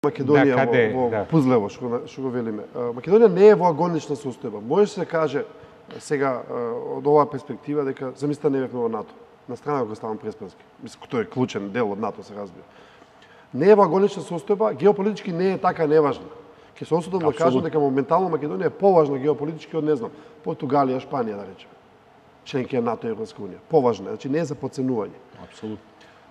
Македонија во пузлево, што го велиме. Македонија не е во агонична состојба. Може се каже сега од оваа перспектива дека замислите не бевме во НАТО. На страна го ставам Преспански. Мислам, тој е клучен дел од НАТО, се разбира. Не е во агонична состојба, геополитички не е така неважна. Ќе се осудам да кажам дека моментално Македонија е поважна геополитички од, не знам, Португалија, Шпанија, да речеме. Членки на НАТО и Европска унија. Поважна, значи не е за потценување. Апсолутно.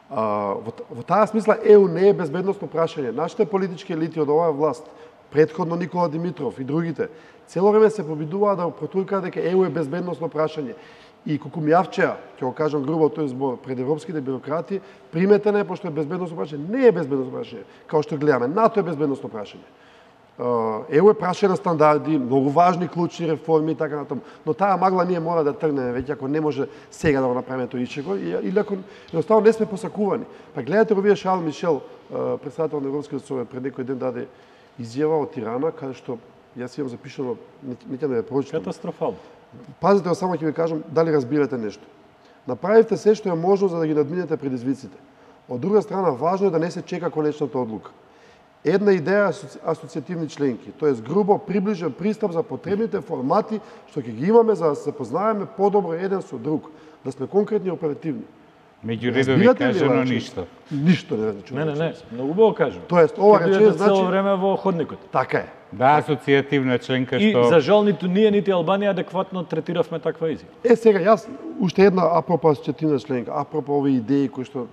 Во таа смисла ЕУ не е безбедносно прашање. Нашите политички елити од оваа власт, претходно Никола Димитров и другите, цело време се побидуваа да протуркаат дека ЕУ е безбедносно прашање. И Кукумјавчеа, ќе го кажам грубо тој збор, пред европските бюрократи, приметена е пошто е безбедносно прашање. Не е безбедносно прашање, као што гледаме. НАТО е безбедносно прашање. ЕУ е прашање на стандарди, многу важни клучни реформи и така натаму. Но таа магла ние мора да тргнеме веќе, ако не може сега да го направиме тој ичего, или ако едноставно не сме посакувани. Па гледате го вие Шарл Мишел, претседател на Европскиот совет, пред некој ден даде изјава од Тирана, каде што јас имам запишано, не ќе да ја прочитам. Катастрофално. Пазите, само ќе ви кажам дали разбирате нешто. Направивте се што е можно за да ги надминете предизвиците. Од друга страна, важно е да не се чека конечната одлука. Една идеја асоциативни членки, тоест грубо приближен пристап за потребните формати што ќе ги имаме за да се познаеме подобро еден со друг, да сме конкретни и оперативни. Меѓу редови кажано ништо. Ништо не значи. Не, многу убаво кажам. Тоест ова рече значи цело време во ходникот. Така е. Да, асоциативна членка И што за жал ниту ние нити Албанија адекватно третиравме таква изјава. Сега јас уште една апропо асоциативна членка, апропо овие идеи кои што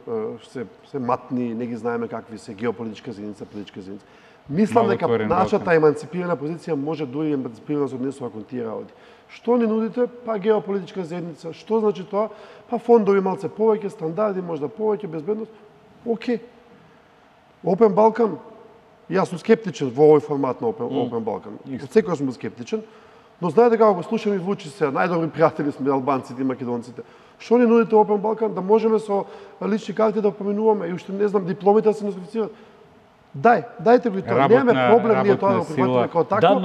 се матни, не ги знаеме какви се, геополитичка заедница, политичка заедница. Мислам дека нашата еманципирана позиција може дури еманципирана се однесува кон тие работи. Што ни нудите? Па геополитичка заедница. Што значи тоа? Па фондови малце повеќе, стандарди, можда повеќе, безбедност. Океј. Опен Балкан, јас сум скептичен во овој формат на Опен Балкан. Од секој сум скептичен, но знаете како го слушам и Вучи се, најдобри пријатели сме албанците и македонците. Што ни нудите Опен Балкан? Да можеме со лични карти да поминуваме и уште не знам дипломите да се носифицираат. Дајте го и тоа. Немаме проблем ние тоа да го прифатиме како тако.